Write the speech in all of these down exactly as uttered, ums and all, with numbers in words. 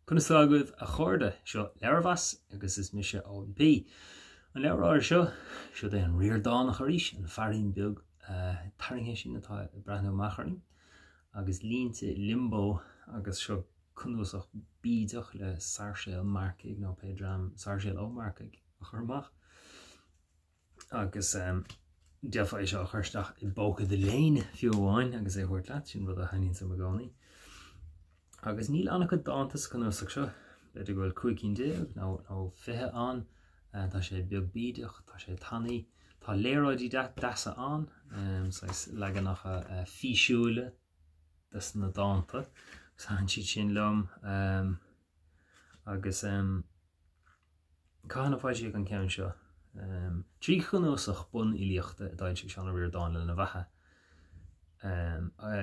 Conas tá agaibh a chairde? Seo Leabharmheas agus is mise Eoin P. An leabhar áirithe seo, siod é an Ríordánach arís, an feairín beag tarraingthe sin atá ag breathnú amach orainn, agus Línte Liombó agus seo cnuasach bídeach le Sáirséal Marcaigh nó pé dream Sáirséal Ó Marcaigh a chur amach. Agus d'fhéadfá é seo a chur isteach i bpóca do léine fiú amháin agus é a thabhairt leat, sin rud a thaitníonn liom i gcónaí. Agus níl an-chuid dánta sa chnuasach seo, b'fhéidir go bhfuil cúig cinn déag nó nó fiche ann. Tá sé beag bídeach, tá sé tanaí, tá léaráidí deasa ann, saghas leaganacha físiúla des na dánta, agus thaitin siad sin liom. Agus cathain a foilsíodh an ceann seo? Trí chnuasach bunfhilíochta a d'fhoilsigh Seán Ó Ríordáin lena bheatha,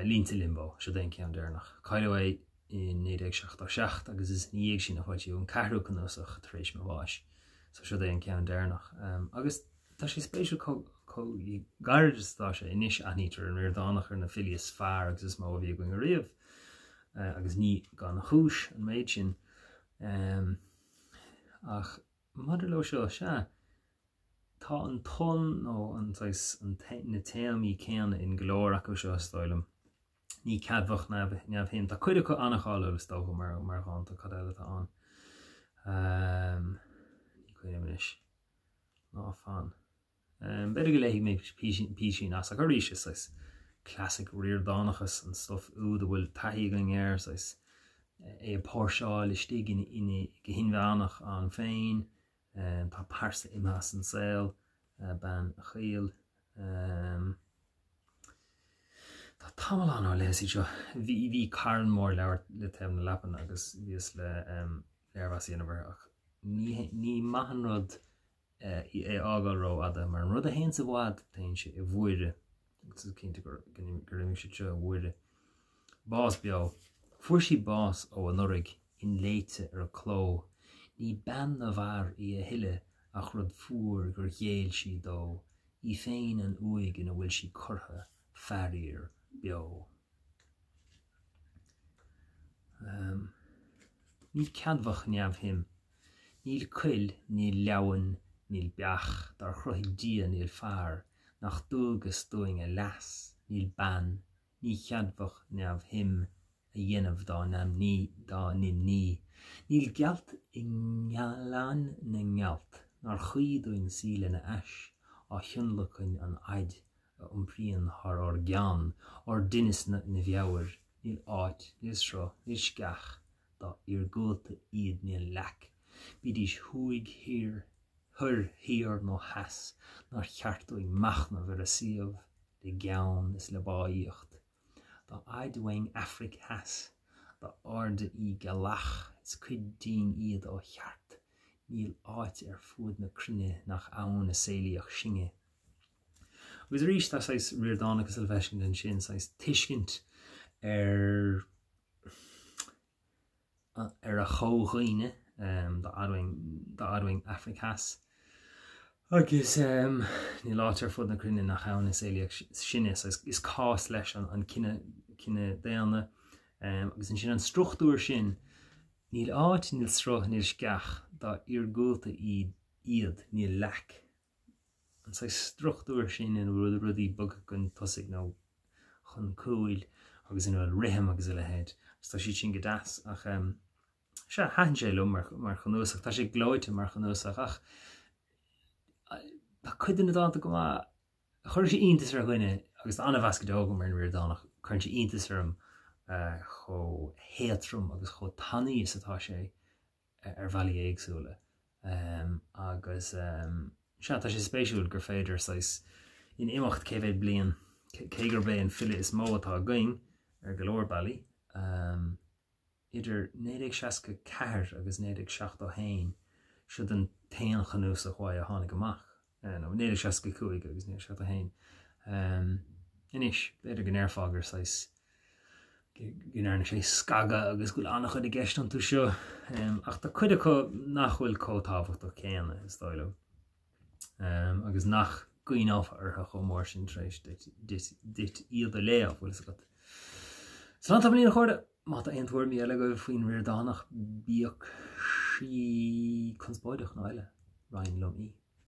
Línte Liombó, siod é an ceann deireanach. Cailleadh é i naoi déag seachtó seacht agus is ina dhiaidh sin a foilsíodh an ceathrú cnuasach tar éis mo bháis. So siod é an ceann deireanach. Agus tá sé spéisiúil chomh gairid is atá sé. Anois aithnítear an Ríordánach ar na filí is fearr agus is mó a bhí againn ariamh, agus ní gan chúis an méid sin. Ach maidir leo seo, sea, tá an ton nó an saghas na téamaí céanna in go leor acu seo, is dóigh liom. Ní ceadmhach neamhshuim. Tá cuid acu an-cháiliúil is dócha mar mar dhánta, cad eile atá ann? Ní cuimhin liom anois. Ná fan. B'fhéidir go léifidh mé písín as, ach arís is saghas classic Ríordánachas an stuff úd a bhfuil taithí againn air, saghas é ag póirseáil istigh ina go hinmheánach ann féin. Tá pearsa imithe as an saol, bean a shaoil. Tá tamall ann ó léas iad seo. Bhí bhí carn mór leabhar le taobh na leapan agus bhíos le léirmheas a dhéanamh orthu ach ní ní maith an rud é a fhágáil rófhada mar an rud a théanns i bhfad téann sé i bhfuaire agus is cinnte gur gur imigh siad seo i bhfuaire. Bás beo. Fuair sí bás ó anuraidh, inléite ar a cló. Ní bean na bhfear í a thuilleadh ach rud fuar gur ghéill sí dó, í féin an uaigh ina bhfuil sí curtha, faraor, beo. Ní ceadmhach neamhshuim. Níl coill, níl leamhan, níl beach, dár chruthaigh Dia níl fear, nach dualgas dúinn a leas, níl bean, ní cheadmhach neamhshuim a dhéanamh dá n-imní. Níl gealt i ngleann na ngealt nár chuí dúinn suí lena ais, á thionlacan an fhaid a iompraíonn thar ár gceann ár dtinneas 'na mheabhair. Níl áit, níl sruth, níl sceach, dá iargúlta iad níl leac, bídís thuaidh, thiar, thoir, thiar nó theas, nár cheart dúinn machnamh ar a suíomh le gean is le báíocht. Dá fhaid uainn Aifric Theas, dá airde í gealach, is cuid dínn iad ó cheart, níl áit ar fuaid na cruinne nach ann a saolaíodh sinne. Agus arís tá saghas Ríordánachas le feiscint ansin, saghas tuiscint ar ar a chomhdhaoine dá fhaid uainn Aifric Theas. Agus níl áit ar fud na cruinne nach ann a saolaíodh sinne, is cás leis an cine cine daonna. Agus ansin an struchtúr sin, níl áit, níl sruth, níl sceach, dá iargúlta iad, níl leac. An saghas struchtúr sin ina bhfuil rudaí bogtha chun tosaigh nó chun cúil agus ina bhfuil rithim agus a leithéid. Agus tá siad sin go deas ach sea, thaitin sé liom mar mar chnuasach. Tá sé gleoite mar chnuasach ach tá cuid de na dánta go maith. Chuir sé iontas ar dhuine agus tá an-mheas go deo agam ar an Ríordánach, cuireann sé iontas orm chomh héadtrom agus chomh tanaí is atá sé ar bhealaí éagsúla. Agus sea, tá sé spéisiúil gur féidir saghas in imeacht cé mhéad bliain, cé gurb é an file is mó atá againn ar go leor bealaí, idir naoi déag seasca ceathair agus naoi déag seachtó haon, siod an t-aon chnuasach uaidh a tháinig amach, nó naoi déag seasca cúig agus naoi déag seachtó haon. Anois, b'fhéidir go ndéarfá gur saghas go ndearna sé scagadh agus go bhfuil an-chuid i gceist iontu seo, ach tá cuid acu nach bhfuil chomh tábhachtach céanna, is dóigh liom, agus nach gcuimhneofá orthu chomh mór sin tar éis duit iad a léamh, bhfuil fhios agat. Slán tamaillín, a chairde! Má tá aon tuairimí eile agaibh faoin Ríordánach, bíodh sí conspóideach nó eile, roinn liom í.